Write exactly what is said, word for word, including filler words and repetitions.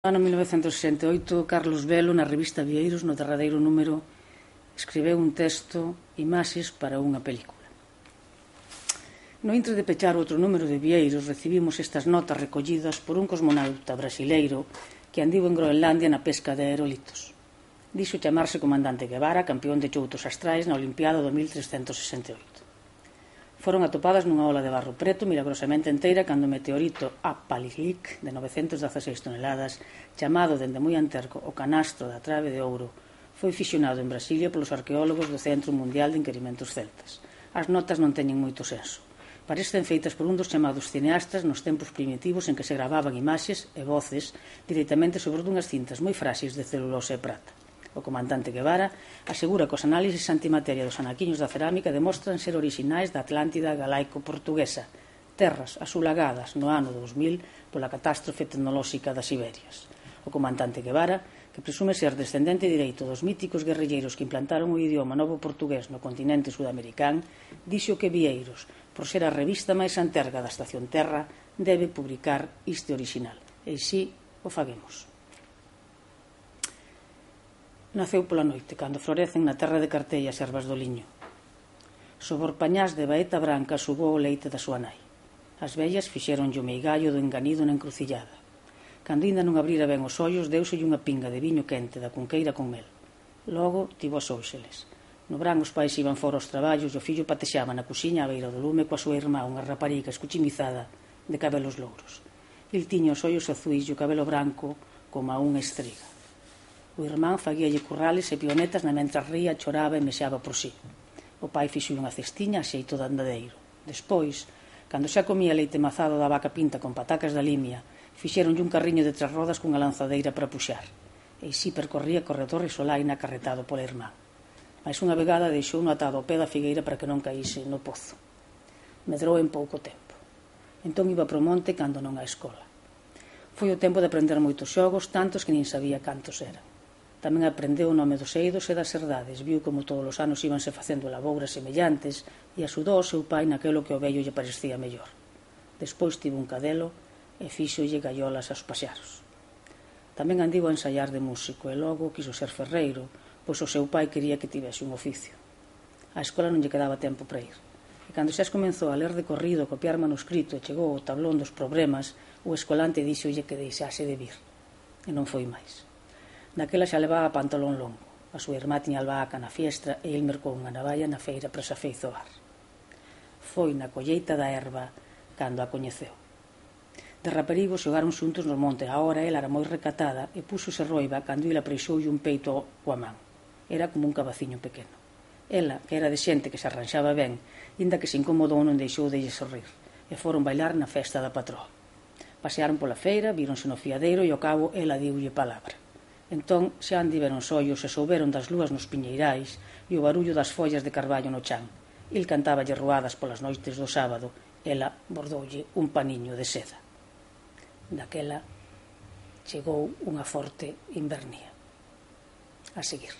No ano mil novecentos sesenta e oito, Carlos Velo, na revista Vieiros, no derradeiro número, escribeu un texto, Imaxes para unha película. No intre de pechar outro número de Vieiros, recibimos estas notas recollidas por un cosmonauta brasileiro que andiu en Groenlandia na pesca de aerolitos. Dixo chamarse Comandante Guevara, campeón de choutos astrais na Olimpiada do mil trescentos sesenta e oito. Foron atopadas nunha ola de barro preto milagrosamente enteira cando o meteorito Apallik, de novecentos dezaseis toneladas, chamado dende moi anterco o canastro da trave de ouro, foi fisionado en Brasilia polos arqueólogos do Centro Mundial de Inquirimentos Celtas. As notas non teñen moito senso. Parecen feitas por un dos chamados cineastas nos tempos primitivos en que se gravaban imaxes e voces directamente sobre dunhas cintas moi fráxiles de celulose e prata. O comandante Guevara asegura que os análises antimateria dos anaquiños da cerámica demostran ser orixinais da Atlántida galaico-portuguesa, terras asulagadas no ano dous mil pola catástrofe tecnolóxica das Iberias. O comandante Guevara, que presume ser descendente direito dos míticos guerrilleiros que implantaron o idioma novo portugués no continente sudamericán, dixo que Vieiros, por ser a revista máis anterga da Estación Terra, debe publicar este orixinal. E si o faguemos. Naceu pola noite, cando florecen na terra de Cartella as ervas do liño. Sobor pañás de baeta branca subou o leite da súa nai. As vellas fixeronlle o meigallo do enganido na encrucillada. Cando ainda non abrira ben os ollos, deuselle unha pinga de viño quente da cunqueira con mel. Logo tivo as óuxeles. No brán os pais iban fora aos traballos e o fillo patexaba na cuxiña á beira do lume coa súa irmá, unha rapariga escuchimizada de cabelos louros. Il tiña os ollos azuis e o cabelo branco como a unha estriga. O irmán faguíalle currales e pionetas na mentras ría, choraba e mexaba por sí. O pai fixo unha cestiña a xeito de andadeiro. Despois, cando xa comía leite mazado da vaca pinta con patacas da limia, fixéronlle un carriño de tres rodas cunha lanzadeira para puxar. E si percorría corredor e solaina acarretado pola irmán. Mais unha vegada deixou-no atado ao pé da figueira para que non caíse no pozo. Medrou en pouco tempo. Entón iba pro monte cando non á escola. Foi o tempo de aprender moitos xogos, tantos que nin sabía cantos eran. Tamén aprendeu o nome dos eidos e das herdades, viu como todos os anos íbanse facendo labouras semellantes e axudou ao seu pai naquelo que ao vello lle parecía mellor. Despois tivo un cadelo e fíxolle gaiolas aos paxaros. Tamén andivo a ensaiar de músico e logo quiso ser ferreiro, pois o seu pai quería que tivese un oficio. A escola non lle quedaba tempo para ir. E cando xa comenzou a ler de corrido, a copiar manuscrito e chegou ao tablón dos problemas, o escolante díxolle que deixase de vir. E non foi máis. Daquela xa levaba pantalón longo. A súa irmá tiña albahaca na fiestra e el mercou unha navalla na feira para se afeizoar. Foi na colleita da erva cando a coñeceu. De raparigo xogaron xuntos no monte. A hora ela era moi recatada e púxose roiba cando ela preixoulle un peito coa man. Era como un cabaciño pequeno. Ela, que era de xente que se arranxaba ben, inda que se incomodou non deixou de lle sorrir, e foron bailar na festa da patroa. Pasearon pola feira, víronse no fiadeiro e ao cabo ela diulle palabra. Entón xa andiveron sollos e souberon das lúas nos piñeirais e o barullo das follas de carballo no chan. Il cantáballe ruadas polas noites do sábado, ela bordoulle un paniño de seda. Daquela chegou unha forte invernía. A seguir.